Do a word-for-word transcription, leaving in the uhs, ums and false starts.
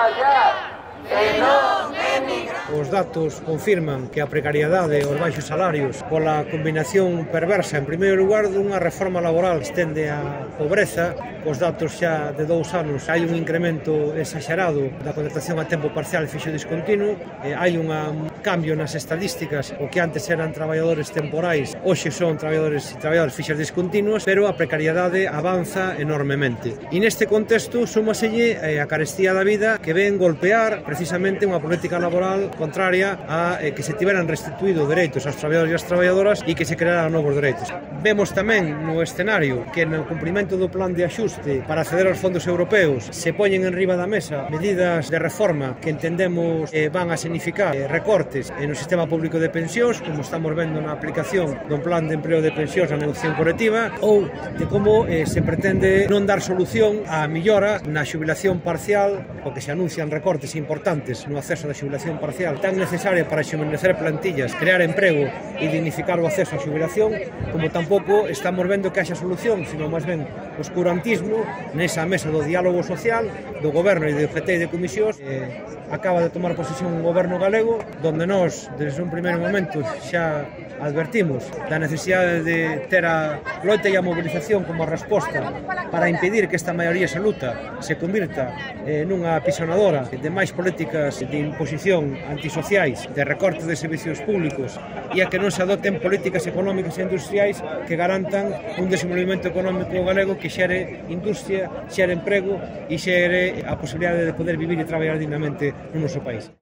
traballar e non emigrar. Os datos confirman que a precariedade e os baixos salarios, pola combinación perversa, en primeiro lugar, dunha reforma laboral que estende a pobreza. Os datos xa de dous anos hai un incremento exagerado da contratación a tempo parcial e fixo discontinuo, e hai un cambio nas estadísticas. O que antes eran traballadores temporais hoxe son traballadores e traballadores fixos discontinuos, pero a precariedade avanza enormemente. E neste contexto súmaselle a carestía da vida que ven golpear precisamente unha política laboral contraria a eh, que se tiveran restituído dereitos aos traballadores e as traballadoras e que se crearan novos dereitos. Vemos tamén no escenario que no cumprimento do plan de axuste para acceder aos fondos europeos se poñen en riba da mesa medidas de reforma que entendemos eh, van a significar eh, recortes no sistema público de pensións, como estamos vendo na aplicación do plan de empleo de pensións na negociación colectiva, ou de como eh, se pretende non dar solución á millora na xubilación parcial, porque se anuncian recortes importantes no acceso da xubilación parcial tan necesaria para xubilecer plantillas, crear emprego e dignificar o acceso á xubilación, como tampouco estamos vendo que haxa solución, sino máis ben oscurantismo nesa mesa do diálogo social do Goberno e de O G T e de comisións. Eh, acaba de tomar posesión un Goberno galego donde nós, desde un primeiro momento, xa advertimos da necesidade de ter a loita e a mobilización como resposta para impedir que esta maioría absoluta se convirta eh, nunha pisonadora de máis políticas de imposición antisociais, de recorte de servicios públicos e a que non se adoten políticas económicas e industriais que garantan un desenvolvemento económico galego que xere industria, xere emprego e xere a posibilidade de poder vivir e traballar dignamente no noso país.